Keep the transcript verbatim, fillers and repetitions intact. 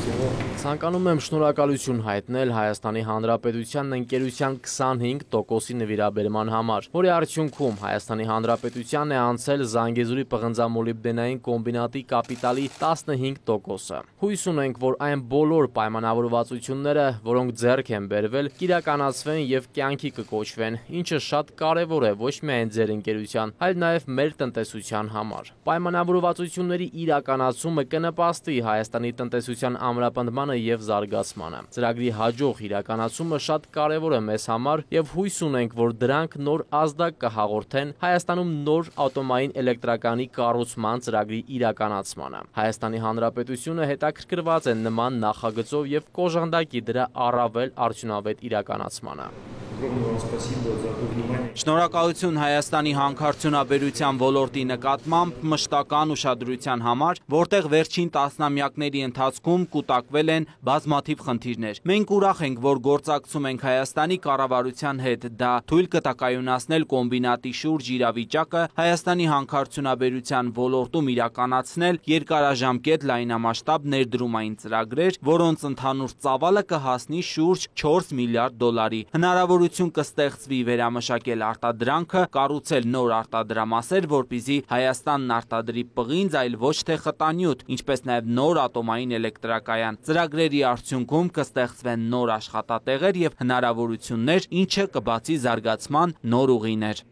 Ցանկանում եմ շնորհակալություն հայտնել Հայաստանի Հանրապետության ընկերության քսանհինգ տոկոսի նվիրաբերման համար, որի արդյունքում Հայաստանի Հանրապետությանն է անցել Զանգեզուրի պղնձամոլիբդենային կոմբինատի կապիտալի տասնհինգ տոկոսը։ Հույս ունենք, որ այն բոլոր պայմանավորվածությունները, որոնք ձեռք են բերվել, կիրականացվեն եւ կյանքի կկոչվեն, ինչը շատ կարեւոր է ոչ միայն ձեր ընկերության, այլ նաեւ մեր տնտեսության համար։ Պայմանավորվածությունների իրականացումը կնպաստի Հայաստանի տնտեսության ամրապնդմանը եւ զարգացմանը։ Ծրագրի հաջող իրականացումը շատ կարեւոր է մեզ համար եւ հույս ունենք, որ դրանք նոր ազդակ կհաղորդեն Հայաստանում նոր ավտոմային էլեկտրականի կառուցման ծրագրի իրականացմանը։ Հայաստանի Հանրապետությունը հետաքրքրված է նման նախագծով եւ կոժանդակի դրա առավել արդյունավետ իրականացմանը։ Շնորհակալություն Հայաստանի հանքարդյունաբերության ոլորտի նկատմամբ մշտական ուշադրության համար, որտեղ վերջին տասնամյակների ընթացքում կուտակվել են բազմաթիվ խնդիրներ։ Մենք ուրախ ենք, որ գործակցում ենք Հայաստանի կառավարության հետ, դա թույլ կտակայունացնել կոմբինատի շուրջ իրավիճակը, Հայաստանի հանքարդյունաբերության ոլորտում իրականացնել երկարաժամկետ լայնամասշտաբ ներդրումային ծրագրեր, որոնց ընդհանուր ծավալը կհասնի շուրջ չորս միլիարդ դոլարի։ Հնարավորություն կստեղծվի վերամշակել արտադրանքը, կառուցել նոր արտադրամասեր, որպեսզի Հայաստանն արտադրի պղինձ, այլ ոչ թե խտանյութ, ինչպես նաև նոր ատոմային էլեկտրակայան։ Ծրագրերի արդյունքում կստեղծվեն նոր աշխատատեղեր եւ հնարավորություններ, ինչը կբացի զարգացման նոր ուղիներ։